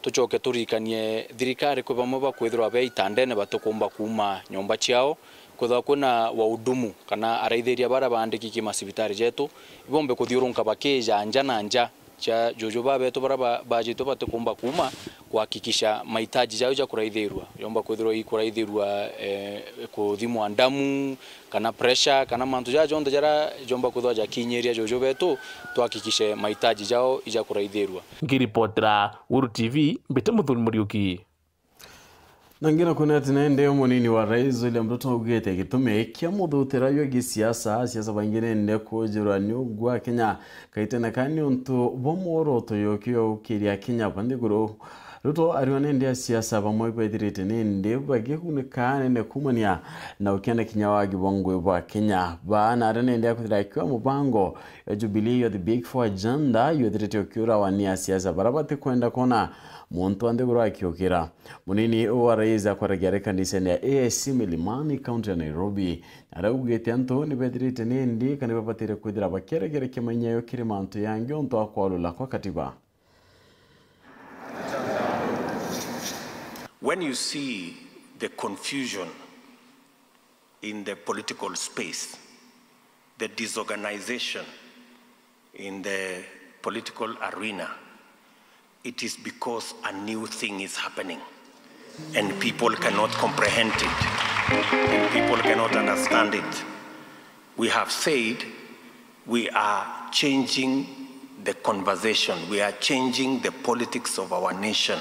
Tucoke turirikanie thirikari kwi bamwe bakwithirwa be itandene batikumba kuuma nyomba ciao, kwithirwa kwina wahudumu kana araithiria baria baandiki ki macibitari jetu, ibombe kuthiurunka bakija nja na nja cia juju babetu baria ba-, bajitwe batikumba kuuma kuhakikisha mahitaji jao ja kuraithirua. Yomba kwithirwa i kuraithirua, eh, kuthimwa ndamu, kana pressure, kana mantu jaja jonthe jaria jomba kwithirwa jakinyiria juju betu, tuhakikishe mahitaji jao ija kuraithirua. Nkiripotera Guru T V, mbite Muthuri Muriuki. Na ngina kwina ati nende munini wa rais William Ruto augite gitumi kia muthutira jwa gisiasa, asiasa baingi nende kujirwa ni ugwa Kenya kaitene ka niuntu bwa mworoto yoki ya ukiria Kenya ba nthiguru. Ruto ariwa nende asiasa bamwe bethirite nende bagigunika nene kumania na ukiana kinya wagi bwa ngui bwa Kenya. Ba nare nende akwithira akiwa mubango ya Jubilee Youth Big Four Agenda, yethirite ukiurawa ni asiasa bara batikwenda kwona muntu wa nthiguru akiukira. Munini wa rais akwaragia ari kanisene ya A I C Milimani, kaunti ya Nairobi, na araugite antu ni bethirite nindi kana ni babatire kwithira bakieregerekia mainyayo kiri mantu yangi untu wa kwalula kwa katiba. When you see the confusion in the political space, the disorganization in the political arena, it is because a new thing is happening and people cannot comprehend it and people cannot understand it. We have said we are changing the conversation, we are changing the politics of our nation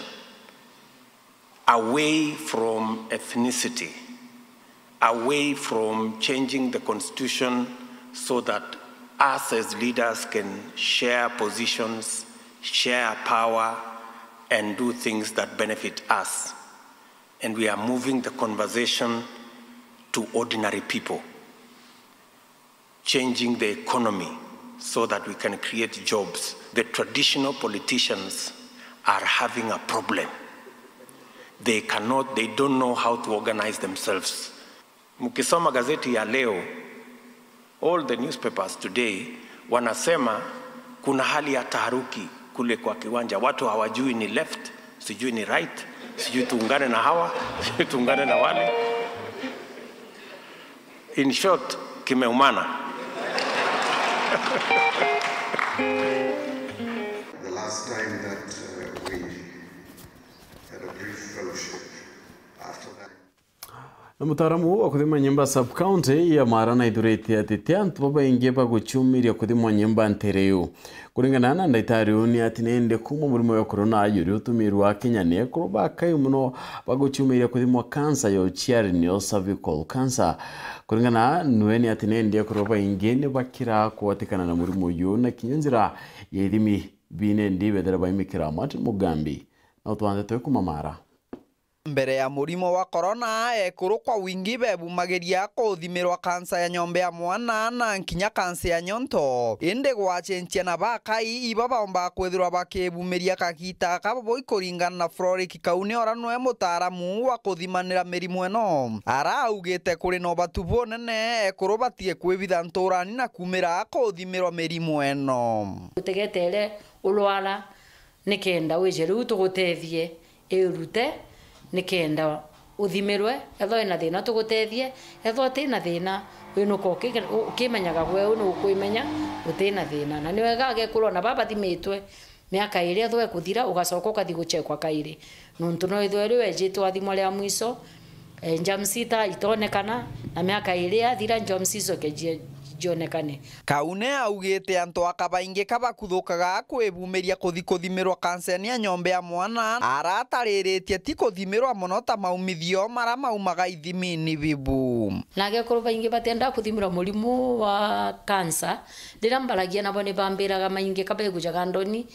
away from ethnicity, away from changing the constitution so that us as leaders can share positions, share power, and do things that benefit us. And we are moving the conversation to ordinary people, changing the economy so that we can create jobs. The traditional politicians are having a problem. They cannot, they don't know how to organize themselves. Mkisoma gazeti ya leo, all the newspapers today wanasema kuna hali ya taharuki kule kwa kiwanja. Watu hawajui ni left, sijui ni right, sijui tuungane na hawa, sijui tuungane na wale. In short, kimeumana. The last time that, uh, we had a brief fellowship after that. Na mutaaramu wa kuthima nyimba sub-county ya Mara naithurite ati ti antu babaingi baguciumiria kuthimwa nyimba ntere iu. Kuringana na ndagitari uu, ni ati nindi kuuma murimo wa corona juri utumirwa Kenya ni ekuru bakai muno baguciumiria kuthimwa kansa ya uciari, niyo cervical cancer. Kuringana nwe, ni ati nindi ekuru baingi ni bakira kugwatikana na murimo uyu, na kinya njira ya ithimi bi nindi bethira baimikira. Martin Mugambi na utwandite kuma Mara. Mbere ya murimo wa corona, ekuru kwa wingi bebumagiria kuthimirwa kansa ya nyomba ya mwana na nkinya kansa ya nyonto. Indi gwacenjia na bakai, iba baumba kwithirwa bakibumiria kagita kaboboi kuringana na Floric Kaune, ura nwe mutaaramu wa kuthimanira mirimu ino. Araugite kuri na ubatu bunene ekuru batige kwibitha nturani na kumira kuthimirwa mirimu ino. Utegetere ulwara nikenda wije riu tugutethie, irute nikenda uthimirwe. Ethwa wina thina tugutethie, ethwa utina thina winuka uki-, ukimenyaga gwe u nukwimenya utina thina. Na ni wega agekuru ona baba bathimitwe miaka iri ethwa ikuthira ugacoka ukathi guchekwa kairi, nontu no ithwe riu ejitwe athimwa ria mwiso. Eh, germs ita itonekana, na miaka iri yathira, germs icoke jie-, jionekane. Kaune augite antu aka baingi ka bakuthukaga kwibumiria kuthi kuthimirwa kanseni ya nyomba ya mwana, aratariritie ti kuthimirwa mono ta maumithio mara maumaga ithimini bibu. Na agekuru baingi batienda kuthimirwa murimu wa kansa, riria mbaragia nabo ni bambiraga maingi ka begujaga ndoni.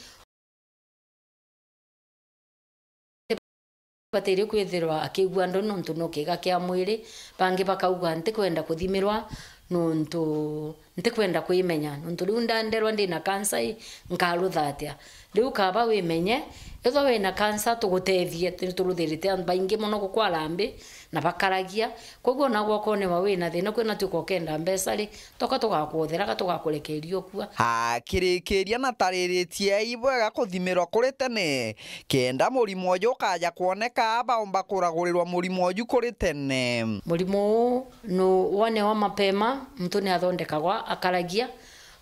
Batiri kwithirwa akigua ndoni nontu no kiiga kia mwiri, bangi bakauga, "Ntikwenda kuthimirwa nontu Ntikwenda kwimenya, nontu riu ndanderwa ndina kansa ii, nkarutha atia? Riu kaba wimenye, ethwa wina kansa, tugutethie. Ni turuthirite antu baingi mono gukwara mbi, na bakaragia. Koguo ona gwokoniwa wina thina, kwina tuko kenda mbeca ri, toka tugakuothera, ka tugakurekeria ukua. Akirikiria na tariritie ibwega kuthimirwa kuri tene, kenda murimo uju ukaja kwoneka, baumba kuragurirwa murimo uju kuri tene. Murimo uu nu wonewa mapema, muntu ni athondekagwa, akaragia.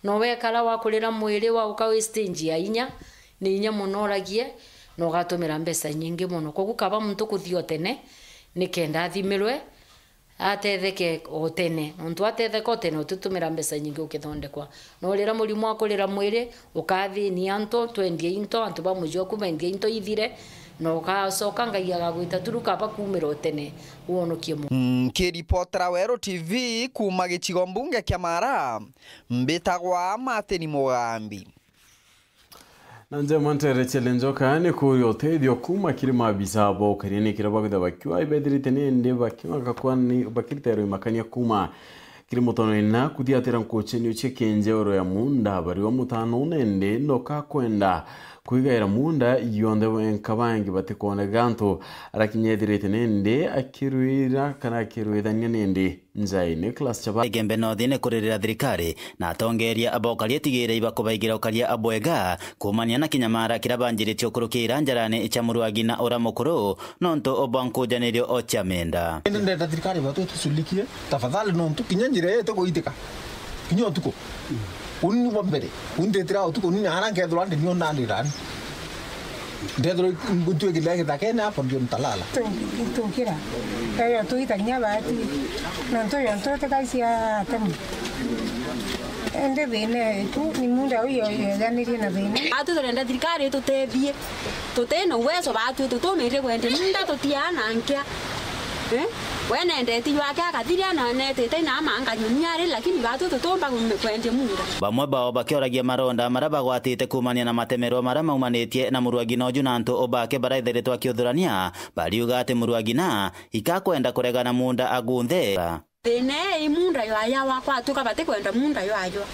No wekara wakurira mwiri, wauka wi stage ya inya, ni inya mono uragie, na ugatumira mbeca inyingi mono. Koguo kaba muntu kuthia o tene, ni kenda athimirwe, atetheke o tene. Nontu atetheka o tene, utitumira mbeca inyingi ukithondekwa. No riria murimo wa kurira mwiri, ukathinia antu, twendie into, antu ba muji oku bendie into ithire, na ugacoka Ngai agagwita turu kaba kumira o tene, uonokie mu. Nkiripotera Weru T V kuuma gicigo mbunge kia Mara, mbitagwa Martin Mugambi. Na njema ntere cia Lenjoka ni kuria utethio kuuma kiri maabisa bo ukaria ni kiria bakwithirwa bakiuga ibethirite nindi bakiuga gakwa ni bakiriterwa imakania kuuma kiri mutono ina kuthiatira nkuchenio cia kinjeuro ya munda bariwa mutano nindi noka kwenda kwigaira munda yonthe wenka bangi batikwoneka antu arakinya ethirite nindi akirwira kana akirwithania nindi. Njai Nicholas Chaba. Igembe North ni kuririra thirikari na atongeria ba ukaria tigire ibakubaigira ukaria bwega kuumania na kinyamara kiria banjiritie ukurukira njarani cia murwagi na ura mukuru nontu bwa nkujanirio o cia menda. Indi ndenda thirikari batu itushughulikie tafadhali nontu kinya njira iyo itikuitika kinya utuku. Uni ni bwa mbere. Uni nditira utuku, uni naara nkethirwa ndi nio ndandira ni. Ndethirwa ntwikire githakene hapo ndio nitalala. Tu-, tukira. Eyo tuitagia baati. Nontu yo ntu tikaisia atemu. Indi thina yetu ni munda uyu yejanirie na thina. Atu turenda thirikari itutethie. Tuti na uwezo baatu tutumirire kwendia munda tutiana nkia. Eh? We nendeti jwake akathiria na netite na ama nkanyumia ari, lakini baatu tutumba kume-, kwendia munda. Bamwe bao bakioragia maronda maria bagwatite kuumania na matemerwa maria maumanitie na murwagina uju na antu bake barethiritwe akiuthurania, bariuga ati murwagina ikakwenda kuregana munda agunthe. Thina ii munda ywayawa, kwatuka batikwenda munda ywayawa.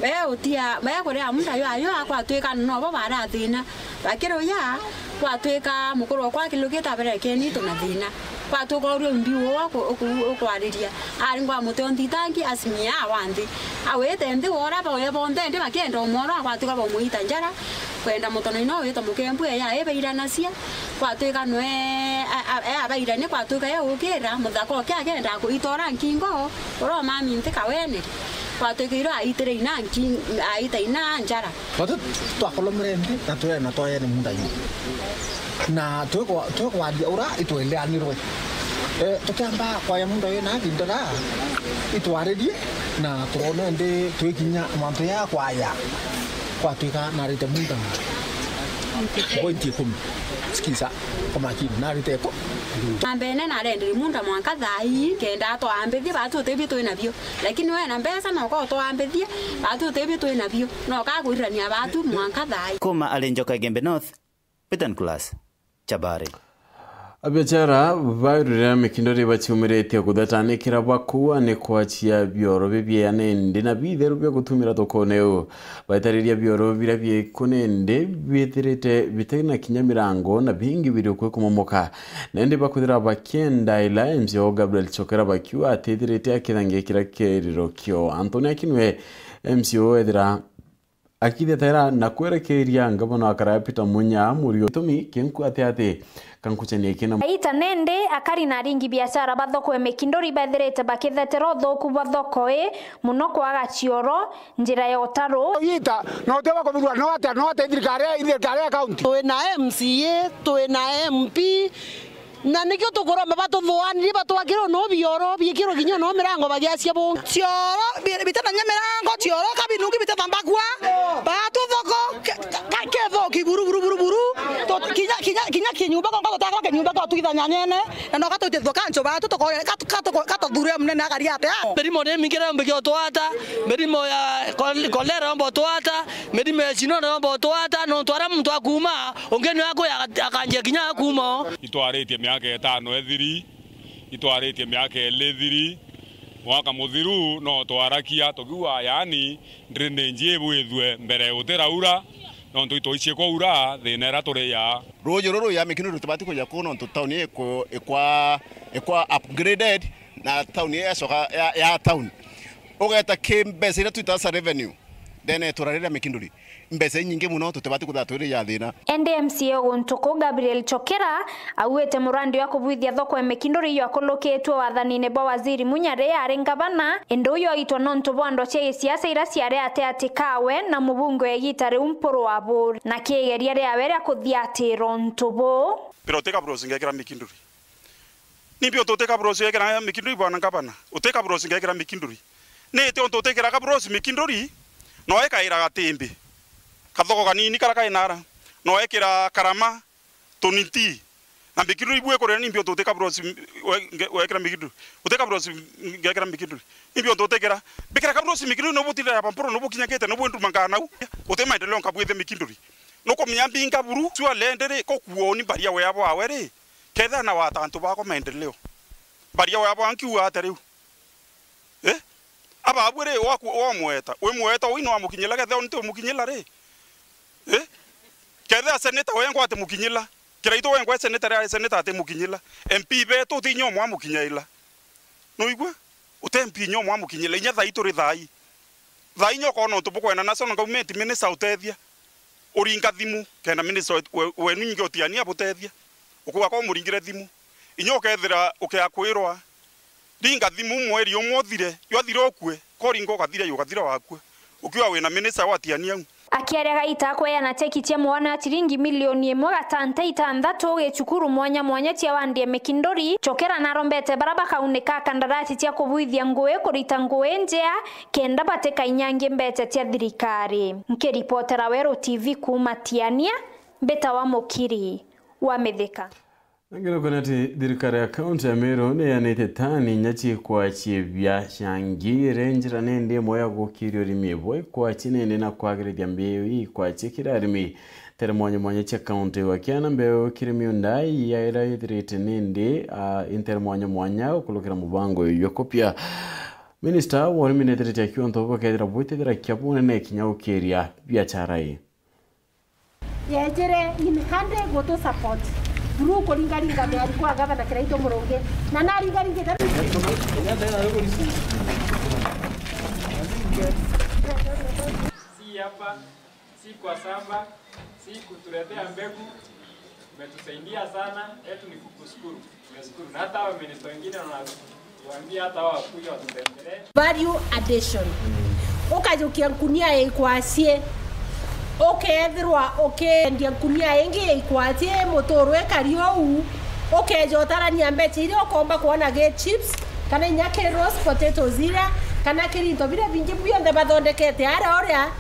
Be utia, be kuria munda ywayawa, kwatuika nobo barathina. Bakiruya, kwatuika mukuru okwa akilukite aberekeni itu na thina. Kwatuka urio mbi uo aku-, uku-, ukwariria. Ari ngwa muti o nthitangi, asimia awa nthi. Awite nthi wora bawe bonthe, ndi bakienda umwora, kwatuka baumuita njara. Kwenda mutono ino witwa mukembu eya ebairanacia. Kwatuika nwe, a, a, e abairania, kwatuika e ukira, muthaka oke akenda kuitora nkingo, uromami nthi kawene. Kwatuika iro aitire ina nki-, aita ina njara. Batu twakolomere nthi na twena twayene munda yu. Na twikwa-, twikwaria ura itwendeanirwe. Eh, tukiamba kwaya munda yu na thindira itwaririe na turone ndi twikinya mantu ya kwaya. Kwatuika narite munda. Point ikumi. Sikiza, kwa makini, narite ku. Na mbene narendere munda mwanka thaa ii, kenda atwambithie, batu utebie twi nabio. Lakini we na mbeca noka utwambithie, batu utebie twi nabio. Noka kurirania batu mwanka thaa ii. Kuma ari Njoka Igembe North, Peter Nicholas. Chabari. Abiachara bairurira mikindo ri baciumiritie kuthatanikira bakua ni kwachia bioro bibieya nindi na bitheru bia gutumira thokone u. Baitariria bioro biria bieku nindi bithirite bitari na kinya mirango na bingi biri ukui kumomoka. Nindi bakwithira bakienda ila M C O Gabriel Chokera bakiuga atithirite akithangia kiria kiriro kio. Anthony Akinwe M C O ethira akithetera na kwerekeria ngavana wa Karaea Peter Munya Murio. Gitumi kinkuate ati kankuchanie kina. Aita nende akari na aringi biashara ba thoko ya Mikinduri bethirite bakithetera uthuku bwa thoko ii muno kwaga cioro, njira ya utaru. Ita, no uteba kuthurwa, no atia, no atia thirikari ya, thirikari ya county. Twina M C A, twina M P, na nikio tukuromba batuthuanirie, batwakire no bioro, biikirwe kinya no mirango bagiacia bungi. Cioro, bi-, bitethania mirango, cioro kabinungi bitethambagua, batu thoko, ke-, ka-, kethoki buru, buru, buru, buru. Tut-, kinya, kinya, kinya kinyumba gonka tutakora kinyumba kwa twithanya nyene, na no katwite thukancho batu tukore, kat-, kat-, katuthure munene agari atia. Mirimo ni mingi ira yomba utwata, mirimo ya kol-, kolera yomba utwata, mirimo ya cino yomba utwata, nontu aria muntu akuuma, ungi ni aku akanjia kinya akuuma o. Itwaritie miaka itano ithiri, itwaritie miaka iri ithiri, Mwaka muthiru no twarakia tukiuga, yaani, drainage ibwithue mbere gutiraura, nontu itwaicii kwaura thina iria turi ya. Ruuji ruru ya Mikinduri rutibati kuja kuu nontu town iku-, ikwa, ikwa upgraded na town icoka ya, ya town. Ugeta ki mbeca iria twitaga cia revenue ndene itura riria Mikinduri. Mbeca inyingi mono, tutibati kwithirwa twiri ja thina. Indi M C A o guntu kuu Gabriel Chokera auite murandi wa kubwithia thoko e Mikinduri jwakulukitue wathanine bwa Waziri Munya riria ari ngavana, indi uju aitwa nontu bwa ndwa cia gisiasa iria ciari atiati kawe na mubunge wa igita riu Mpuru Aburi, na kiigeria riawe ria kuthiatira untu buu. Mpira uti kabrosi ngekira Mikinduri. Nimbi untu uti kabrosi ngekira Mikinduri, bwana ngavana? Uti kabrosi ngekira Mikinduri. Ni iti untu utikira kabrosi Mikinduri, no ikaira Gatimbi. Kathoko kanini kara kai nara. No ekira Karama, Tuniti. Na Mikinduri ibue kurira nimbi untu uti kabrosi m-, we-, nge-, wekira Mikinduri. Uti kabrosi ngekira Mikinduri. Nimbi untu utikira. Mbikira kabrosi Mikinduri no butire ya Mpuru no bukinyakite no bwenduma nganau. Uti maendeleo nkabwithia Mikinduri. Nukumenya mbinga buru, sua lendere, kokuoni mbaria wea bwawe ri. Kethira na wata antu bakwa maendeleo. Mbaria wea bwa nkiuga ata riu? Eh? Ababwe ri, waku-, wamweta. Wi mweta, ui no amukinyila, kethira nti umukinyila ri? Eh? Kethira seneta wengwa ati mukinyila. Kiraitu wengwa seneta ri, ari seneta ati mukinyila. M P betu ti inya umwe amukinyaila. Nuigua? Uti M P inya umwe amukinyila. Inya thai turi thai. Thai inya ukona untu bukwenda national government minister utethia. Uringa thimu, kenda minister we-, we-, wenu nyingi utiania abutethia. Ukuga kwa umuringire thimu. Inya ukethira ukiakwirwa, ringa thimu mweri umwe uthire, jwathira ukue, koringa ukathira, ukathira wakue. Ukiuga wina minister watiania u. Akiaria gaita kweana cheki cia mwana wa chiringi milioni imwe gatanta itantatu gicukuru mwanya mwanya cia wandi e Mikinduri, Chokera narombete bara bakaunika kandarasi cia kubwithia ngui kurita ngui njea, kenda batikainyangie mbeca cia thirikari. Nkiripotera Weru T V kuuma Tiania, mbitawa Mukiri wa Mithika. Ngerekano ati thirikari ya kaunti ya Meru niyanite tani inya ciikwa ciibia cia ngi iri njira nindi imwe ya gukiria urimi bwa ikwati nindi na kwagirithia mbiu ii ikwati kiri arimi ntere mwanya mwanya cia kaunti, gwakiana mbiu kiri miunda ya ira ithirite nindi, a, intere mwanya mwanya gukurukira mubango uyu jwa kupia. Minista wa urimi nethirite akiuga untu buu bukethira bwitithira kia bunene kinya gukiria biachara ii. Yejire in hand gutu support. Through kuringaringa miari kwa gavana Kiraitu Murungi. Na naringaringite. Si hapa, si kwa shamba, si kutuletea mbegu. Umetusaidia sana, yetu ni kukushukuru. Tumeshukuru. Na hata hao minister wengine wanatuambia hata hao wakuja watutembelee. Value addition. Ukajukia nkunia ya ikwacii. Ukethirwa ukiendia nkunia ingi ya ikwacii, muturu ikari ou, ukeja utarania mbeca iria ukomba kwona gi chips, kana inya ki roast potatoes iria, kana kiri into biria bingi bionthe bathondekete aria uria,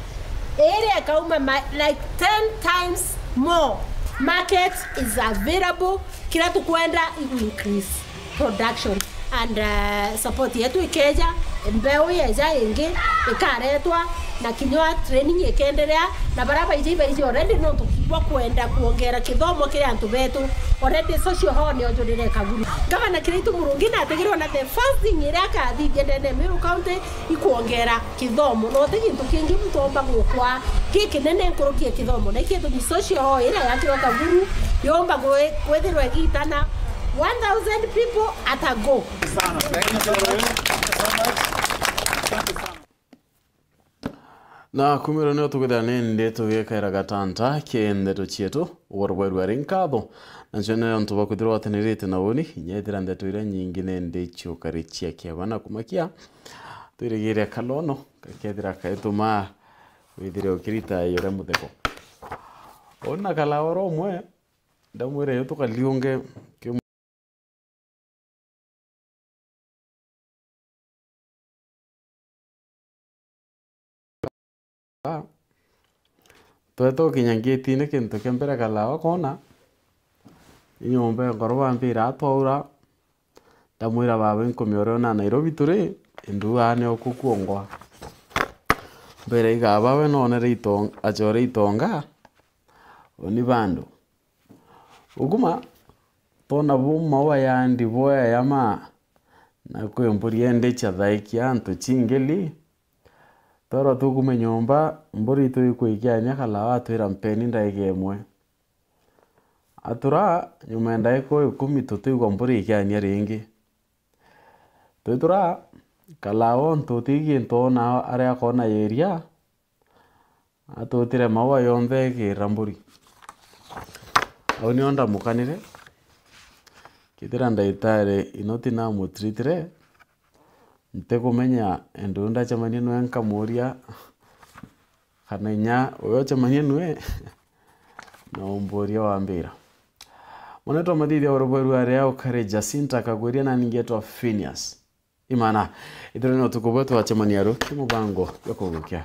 iria ikauma ma-, like ten times more. Market is available. Kiria tukwenda igu increase production and, uh, support yetu ikeja, mbeu yeja ingi ikaretwa, na kinya training ikenderea, na baria baiji baiji already nontu bwa kwenda kuongera kithomo kiri antu betu. Already social hall nionjurire Kaguru. Gavana Kiraitu Murungi natigirwe na the first thing iria akathithia ndene ya Meru County ikuongera kithomo, na uti gintu kingi muntu omba gukwa gikinene nkuruki ya kithomo. Na ikio gitumi social hall iria yakirwa Kaguru yomba gwi-, kwithirwa igitana one thousand people at a go. Na kumiro nio tukwithira nindi tugikaira gatanta ki ndeto cietu, ugoro bwa irua ri nkatho, nacio ni untu bwa kwithirwa utenirite na uni, inya ithira ndeto iria nyingi nindi ciukari cia kiaba na kumakia. Twirigire kalono gakethira kaituma withire ukirita iyo ria mutheko. Ona kalaoro umwe, ndamwira iyo tukaliunge ki-, tweta ukinya ngitine, kintu kia mbere kalawa kona inyomba ya nkoro bambira atwaura. Ndamwira, "Baba, inkumia uria una Nairobi turi, indu aa ni okukuongwa." Mbere igaba we nonere itong-, achore itonga, uni bandu. Uguma, tona buma wa yandi boya ya ma, Na kwi mburi endi ciathaikia antu cingili. Twerwa tukume nyomba, mburi itu ikwikiania kalawa atwira, "Mpeni ndaiga imwe." Atura, nyuma ya ndaika ikumi tutiigua mburi ikiania ringi. Twitura, kalawa untu uti gintu ona aria akona yeria, atutire maua yonthe ikira mburi. Au nio ndamukanire. Kethira ndagitari Inoti namutritire, ntikumenya, endi ndacemania nwe nkamuria, kana inya uyo ocemania nwe, na umburia wambira. Mwanetwa Mathithia wa Rubweru aria ukari Jacinta Kagwiria, nani ngetwa Phineas Imana. Ithire ni utuku bwetu twacemania ruki mubango jwa kugukia.